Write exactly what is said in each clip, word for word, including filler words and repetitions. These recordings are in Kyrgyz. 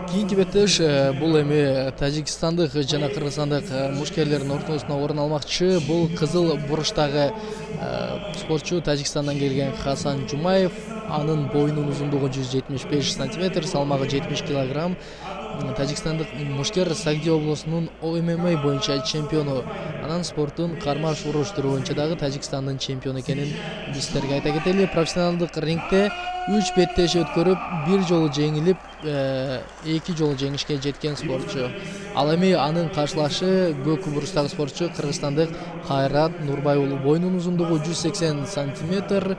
Кийинки беттеш бул эми тажикстандык жана кыргызстандык мушкерлердин ортосуна орун алмакчы. Бул кызыл буруштагы спортчу Тажикстандан келген Хасан Жумаев. Анын боюнун узундугу жүз жетимиш беш сантиметр, салмагы жетимиш килограмм. Тажикстандык мушкер Сагди облусунун О М М боюнча чемпиону. Анан спорттун кармаш уруш түрү боюнча дагы Тажикстандын чемпиону экенин биз силерге айта кетели. Профессионалдык рингте үч беттеш өткөрүп, бир жолу жеңилип, эки жолу жеңишке жеткен спортчу. Ал эми анын каршылашы көк буруштагы спортчу Кыргызстандык Кайрат Нурбай уулу. Боюнун узундугу жүз сексен сантиметр,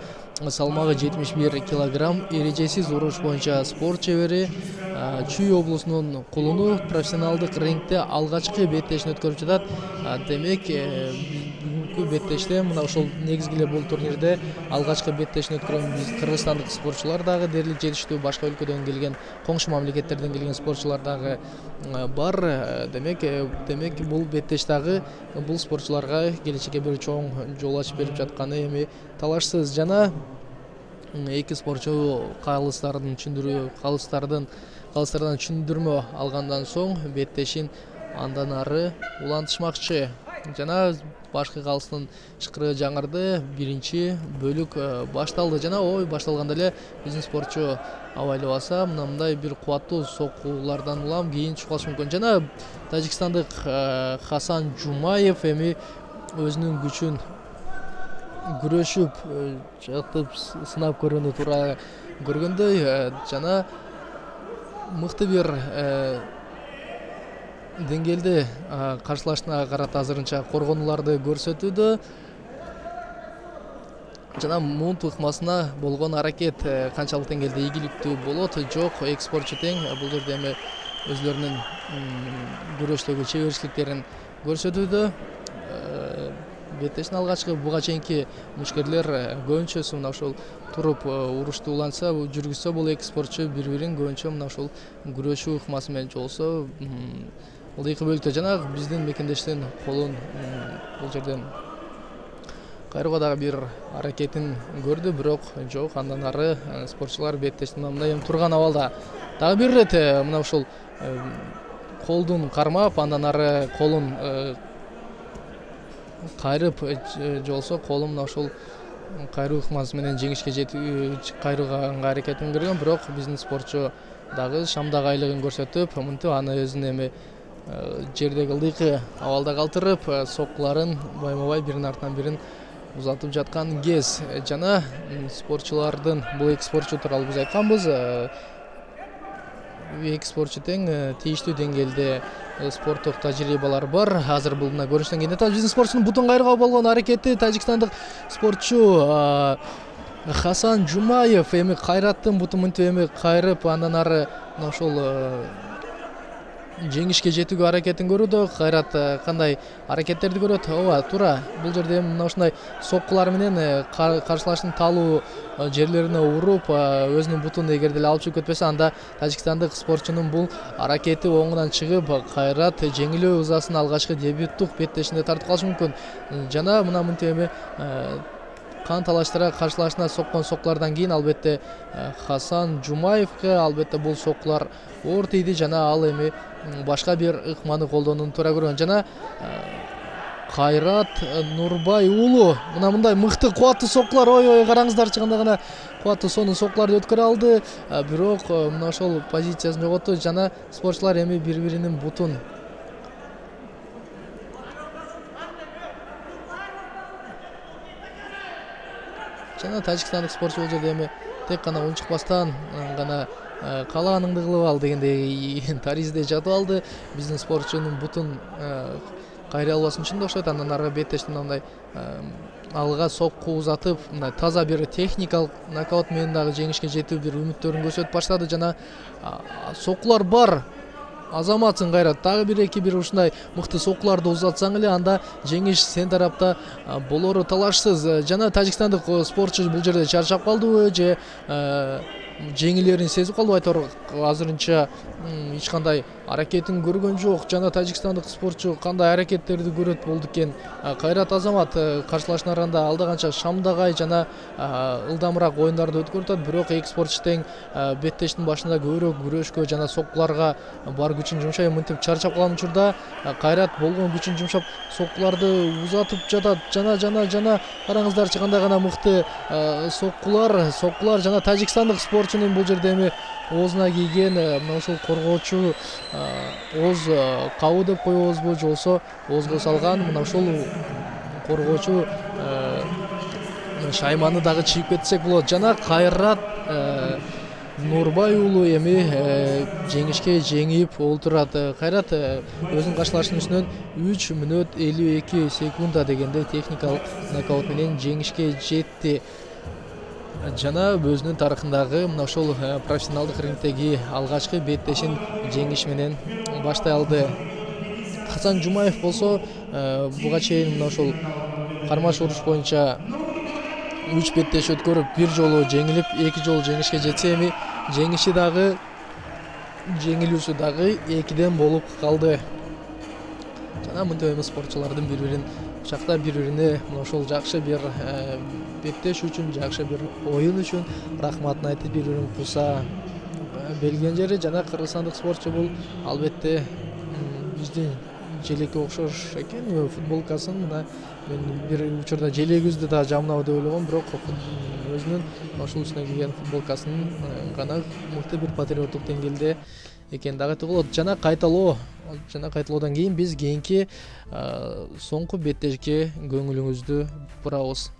салмагы жетимиш бир килограмм. Эрежесиз уруш боюнча спорт чебери. Чүй облусунун кулуну. Профессионалдык рингте алгачкы беттешин өткөрүп жатат. Демек, бүгүнкү беттеште мына ошол негизги эле бул турнирде алгачкы беттешин өткөргөн биз кыргызстандык спортчулар дагы дээрлик жетиштүү, башка өлкөдөн келген, коңшу мамлекеттерден келген спортчулар дагы бар. Демек, демек бул беттеш дагы бул спортчуларга келечекке бир чоң жол ачып берип жатканы эми талашсыз. Жана эки спортчу калыстардын түшүндүрүү, калыстардын калыстардан түшүндүрмө алгандан соң беттешин андан ары улантышмакчы. Жана башкы калыстын шыкырыгы жаңырды. Биринчи бөлүк башталды. Жана ой башталганда эле биздин спортчу абайлабаса, мына мындай бир кубаттуу соккулардан улам кийин түшүп калышы мүмкүн. Жана тажикстандык Хасан Жумаев эми өзүнүн күчүн күрөшүп, жатып сынап көрүүнү туура көргөндөй, жана мыкты бир деңгээлде каршылашына карата азырынча коргонуларды көрсөтүүдө. Жана муунт ыкмасына болгон аракет канчалык деңгээлде ийгиликтүү болот, жок, эки спортчу тең. Бул жерде эми өзлөрүнүн күрөштөгү чеберчиликтерин көрсөтүүдө. Беттештин алгачкы буга чейинки мушкерлер көбүнчөсү мына ошол туруп урушту улантса, жүргүзсө, бул эки спортчу бири-бирин көбүнчө мына ошол күрөшүү ыкмасы менен жолсо, ылдыйкы бөлүктө. Жана биздин мекендештин колун бул жерден кайрууга дагы бир аракетин көрдү, бирок жок, андан ары спортчулар беттештин мындай эми турган абалда. Дагы бир ирет мына ошол колдун кармап, андан ары колун кайрып жолсо, колу мына ошол кайруу ыкмасы менен жеңишке жетүү, кайрууга аракетин көргөн, бирок биздин спортчу дагы шамдак айлыгын көрсөтүп, мынтип аны өзүнүн эми жердеги ылдыйкы абалда калтырып, соккуларын байма-бай биринин артынан бирин узатып жаткан кез. Жана спортчулардын, бул эки спортчу тууралуу биз айтканбыз, эки спортчу тең тийиштүү деңгээлде спорттук тажрыйбалар бар. Азыр бул мына көрүнүштөн кийин биздин спортчунун бутун кайрууга болгон аракети, тажикстандык спортчу Хасан Жумаев эми Кайраттын бутун мынтип эми кайрып, андан ары мына ошол жеңишке жетүүгө аракетин көрүүдө. Кайрат кандай аракеттерди көрөт? Ооба, туура. Бул жерде мына ушундай соккулар менен каршылаштын талуу жерлерине уруп, өзүнүн бутун эгерде эле алып чыгып кетпесе, анда тажикстандык спортчунун бул аракети оңунан чыгып, Кайрат жеңилүү ызасын алгачкы дебюттук беттешинде тартып калышы мүмкүн. Жана мына мынтип эми кан талаштыра каршылашына соккон соккулардан кийин албетте Хасан Жумаевке албетте бул соккулар оор тийди, жана ал эми башка бир ыкманы колдонууну туура көргөн. Жана Кайрат Нурбай уулу мына мындай мыкты кубаттуу соккулар, ой-ой, караңыздарчы, кандай гана кубаттуу сонун соккуларды өткөрө алды, бирок мына ошол позициясын жоготту. Жана спортчулар эми бири-биринин бутун жана тажикстандык спортчу бул жерде эми тек гана унчукпастан гана каалаганыңды кылып ал дегендей таризде жатып алды. Биздин спортчунун бутун кайрый албасын үчүн да окшойт. Андан ары беттештин мындай алга сокку узатып, мындай таза бир техникалык нокаут менен дагы жеңишке жетүү бир үмүттөрүн көрсөтүп баштады. Жана соккулар бар. Азаматсың Кайрат, дагы бир эки бир ушундай мыкты соккуларды узатсаң эле, анда жеңиш сен тарапта болору талашсыз. Жана тажикстандык спортчу бул жерде чарчап калдыбы же жеңилерин сезип калды. Айтор азырынча эч кандай аракетин көргөн жок. Жана тажикстандык спортчу кандай аракеттерди көрөт болду экен. Кайрат Азамат каршылашууларында алда канча шамдагай жана ылдамыраак оюндарды өткөрүп атат, бирок эки спортчу тең беттештин башында көбүрөөк күрөшкө жана соккуларга бар күчүн жумшай, мынтип чарчап калган учурда Кайрат болгон күчүн жумшап соккуларды узатып жатат. Жана жана жана караңыздарчы кандай гана мыкты соккулар, соккулар жана тажикстандык спортчунун бул жерде эми оозуна кийген мына ушул коргоочу ооз кабы деп коебузбу же болбосо оозго салган мына ушул коргоочу шайманы дагы чийип кетсек болот. Жана Кайрат Нурбай уулу эми жеңишке жеңип олтурат. Кайрат өзүнүн каршылашуусунан үч мүнөт элүү эки секунда дегенде техникалык нокаут менен жеңишке жетти. Жана өзүнүн тарыхындагы мына ушул профессионалдык рингдеги алгачкы беттешин жеңиш менен баштай алды. Хасан Жумаев болсо буга чейин мына ушул кармаш уруш боюнча үч беттеш өткөрүп бир жолу жеңилип эки жолу жеңишке жетсе, эми жеңиши дагы жеңилүүсү дагы экиден болуп калды. Жана мынтип эми спортчулардын бири-бирин кучактап, бири-бирине мына ушул жакшы бир беттеш үчүн, жакшы бир оюн үчүн рахматын айтып бири-бирин куса белген жери. Жана кыргызстандык спортчу бул албетте биздин желекке окшош экен. Футболкасын мына мен бир учурда желегибизди да жамнабы деп ойлогом, бирок өзүнүн ошол үстүнө кийген футболкасын гана мыкты бир патриоттук деңгээлде экен дагы айтууга болот. Жана кайталоо жана кайталоодан кийин биз кийинки соңку беттешке көңүлүңүздү бурабыз.